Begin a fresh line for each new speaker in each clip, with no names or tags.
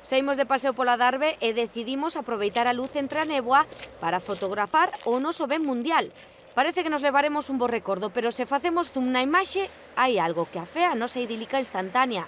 Saímos de paseo pola Darbe e decidimos aproveitar a luz entre a néboa para fotografar o noso ben mundial. Parece que nos levaremos un bo recordo, pero se facemos zoom na imaxe, hai algo que afea a nosa idílica instantánea.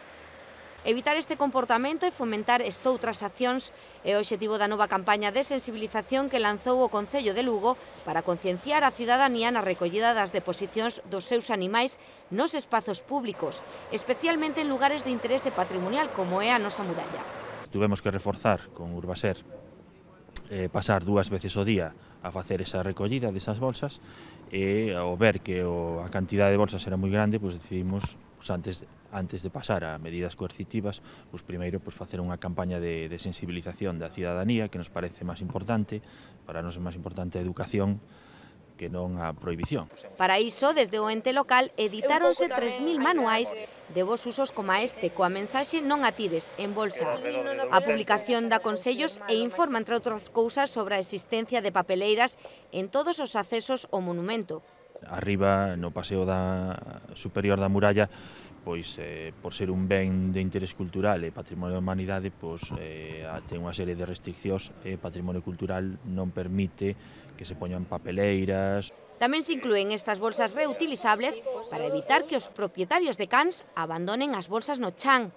Evitar este comportamento e fomentar estoutras accións é o obxectivo da nova campaña de sensibilización que lanzou o Concello de Lugo para concienciar a cidadanía na recollida das deposicións dos seus animais nos espazos públicos, especialmente en lugares de interese patrimonial como é a nosa muralla.
Tuvemos que reforzar con Urbaser pasar 2 veces ao día a facer esa recollida desas bolsas e ao ver que a cantidade de bolsas era moi grande, decidimos antes de pasar a medidas coercitivas, primeiro facer unha campaña de sensibilización da cidadanía que nos parece máis importante, para nós é máis importante a educación que non a prohibición.
Para iso, desde o ente local, editáronse 3.000 manuais de bons usos como este, coa mensaxe non a tires, en bolsa. A publicación dá consellos e informa, entre outras cousas, sobre a existencia de papeleiras en todos os accesos ao monumento.
Arriba, no paseo superior da muralla, por ser un ben de interés cultural e patrimonio da humanidade, ten unha serie de restriccións e patrimonio cultural non permite que se poñan papeleiras.
Tamén se inclúen estas bolsas reutilizables para evitar que os propietarios de cans abandonen as bolsas no chan.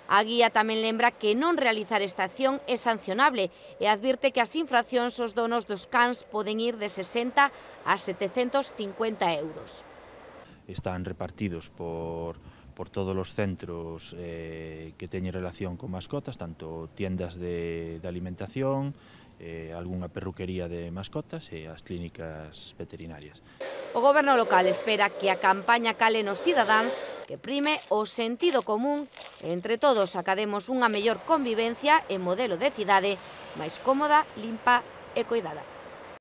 A guía tamén lembra que non realizar esta acción é sancionable e advirte que as infraccións aos donos dos cans poden ir de 60 a 750 euros.
Están repartidos por todos os centros que teñen relación con mascotas, tanto tiendas de alimentación, algunha perruquería de mascotas e as clínicas veterinarias.
O goberno local espera que a campaña cale nos cidadáns, que prime o sentido común e entre todos academos unha mellor convivencia e modelo de cidade máis cómoda, limpa e coidada.